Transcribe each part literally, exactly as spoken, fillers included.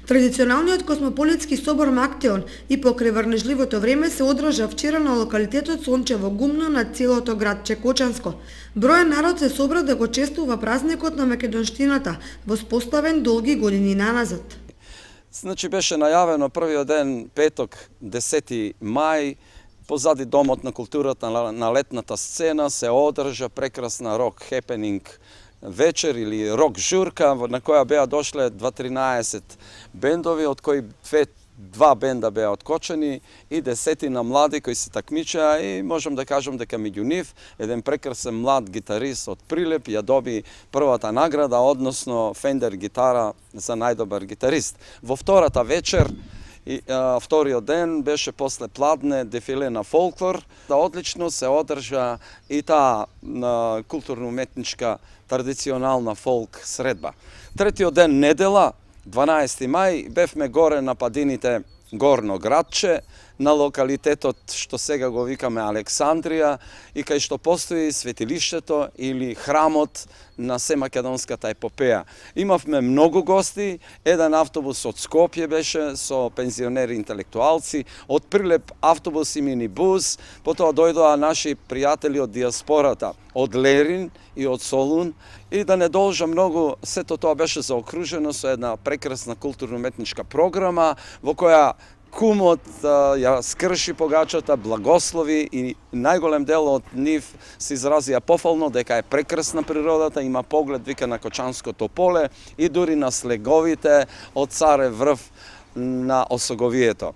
Традиционалниот космополитски собор Мактеон и покрај врнежливото време се одржа вчера на локалитетот Сончево гумно на целото градче Кочанско. Бројен народ се собра да го чествува празникот на македонштината, воспоставен долги години наназад. Значи беше најавено првиот ден, петок, десети мај, позади Домот на културата на летната сцена се одржа прекрасна рок хепенинг вечер или рок журка на која беа дошле дваесет бендови, од кои две два бенда беа откочени и десетина млади кои се такмичеа и можам да кажам дека меѓу нив еден прекрасен млад гитарист од Прилеп ја доби првата награда, односно Фендер гитара за најдобар гитарист. Во втората вечер и а, вториот ден беше после пладне дефиле на фолклор. Да одлично се одржа и таа културно-уметничка традиционална фолк средба. Третиот ден недела, дванаесети мај, бевме горе на падините Горно градче, на локалитетот што сега го викаме Александрија и кај што постои светилиштето или храмот на Семакедонската епопеја. Имавме многу гости, еден автобус од Скопје беше со пензионери интелектуалци, од Прилеп автобус и минибус, потоа дојдоа наши пријатели од диаспората, од Лерин и од Солун, и да не должам многу, сето тоа беше заокружено со една прекрасна културно-уметничка програма во која кумот ја скрши погачата, благослови и најголем дел од нив се изразија пофално дека е прекрасна природата, има поглед вика на Кочанското поле и дури на слеговите од Царев врв на Осоговието.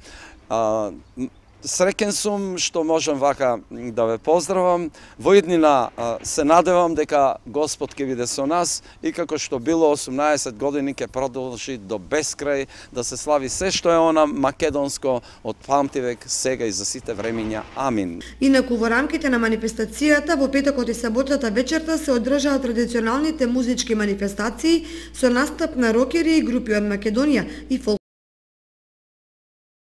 Среќен сум што можам вака да ве поздравам. Во иднина се надевам дека Господ ќе биде со нас и како што било осумнаесет години ќе продолжи до бескрај да се слави се што е она македонско од памтивек, сега и за сите времиња. Амин. Инаку во рамките на манифестацијата во петокот и саботата вечерта се одржаа традиционалните музички манифестации со настап на рокери и групи од Македонија и фолк